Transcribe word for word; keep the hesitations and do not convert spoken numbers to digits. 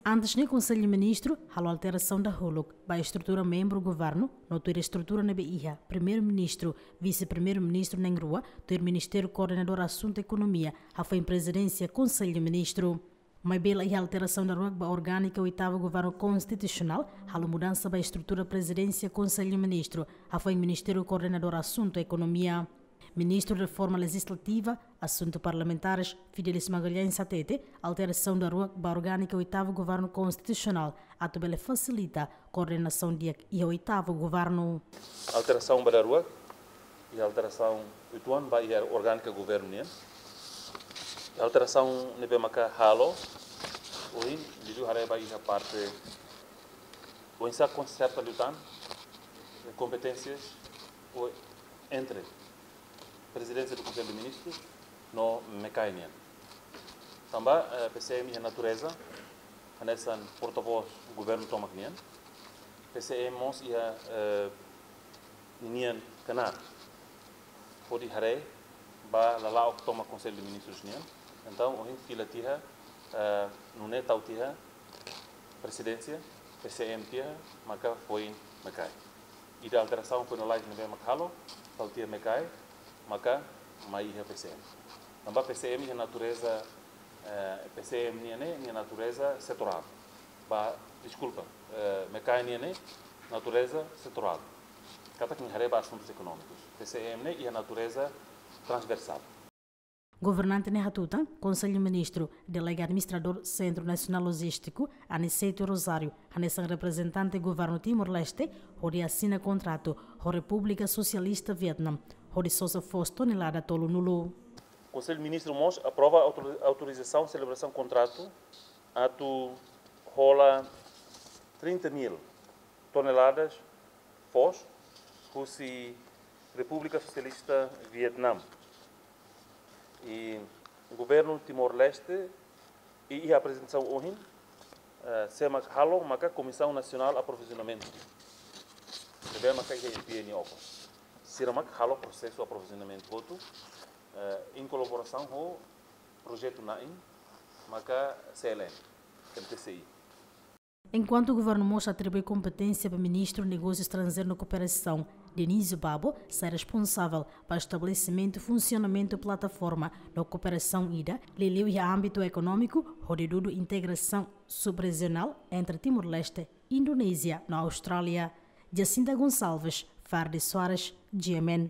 Antes ne'e, Konsellu Ministru halo alterasaun dahuluk ba estrutura membru governu, no tuir estrutura ne'ebé iha Primeiru-Ministru, Vise-Primeiru-Ministru na'in-rua, tuir Ministériu Koordenadór Asuntu Ekonomia, hafoin Prezidénsia Konsellu Ministru. Maibé la iha alterasaun daruak ba orgánika oitavu Governu Konstitusionál, halo mudansa ba estrutura Prezidénsia Konsellu Ministru, hafoin Ministériu Koordenadór Asuntu Ekonomia. Ministru Reforma Lejizlativa, Asuntu Parlamentares, Fidelis Magalhães hatete, alterasaun daruak ba orgánika oitavu Governu Konstitusionál, atu bele fasilita koordenasaun di'ak iha oitavu governu. Alterasaun ba daruak, iha alterasaun uitoan ba iha orgánika governu nian. Alterasaun ne'ebé maka halo, ohin, liuliu haree ba iha parte, oinsá konserta liután, kompeténsias, o entre Prezidénsia do Konsellu de Ministrus no MECAE nian. Tanba, eh, P C M iha natureza, hanesan portavós governu tomak nian. P C M mós iha, eh, ninian knaar hodi haree ba lala'ok tomak Konsellu de Ministrus nian. Entaun, ohin fila tiha, eh, nune'e tau tiha Prezidénsia, P C M tiha, maka foin MECAE. Ida alterasaun foin lalais ne'ebé maka halo, tau tiha MECAE, maka mai iha P C M. Tanba P C M iha natureza, eh, P C M nian ne'e, nia natureza setorál. Ba, deskulpa, eh, MECAE nian ne'e natureza setorál. Katak nia haree ba asuntus ekonómikus. P C M ne'e iha natureza transversál. Governante ne'e hatutan, Konsellu Ministru, delega administradór Sentru Nasionál Lojístiku, Aniceto Rosário, hanesan reprezentante Governu Timor-Leste, hodi asina kontratu ho Repúblika Sosialista Vietname, hodi sosa foos tonelada tolunulu. Konsellu Ministru mós aprova autor-, autorizasaun selebrasaun kontratu atu hola trinta mil toneladas foos husi Repúblika Sosialista Vietname. I Governu Timor-Leste, i, iha aprezentasaun ohin, eh, sé mak halo maka Komisaun Nasionál Aprovizionamentu. Ne'ebé maka iha P N O. Sira mak halo prosesu aprovizionamentu hotu, eh, em kolaborasaun ho projetu na'in, maka C L N, M T C I. Enkuantu governu mós atribui kompeténsia ba Ministru Negósiu Estranjeiru no Kooperasaun, Dionísio Babo, sai responsavel ba estabelesimentu, funsionamentu plataforma no kooperasaun ida, liuliu iha ámbitu ekonómiku, hodi dudu integrasaun subrejionál entre Timor-Leste, Indonézia no Austrália. Jacinta Gonçalves, Fardy Soares, G M N.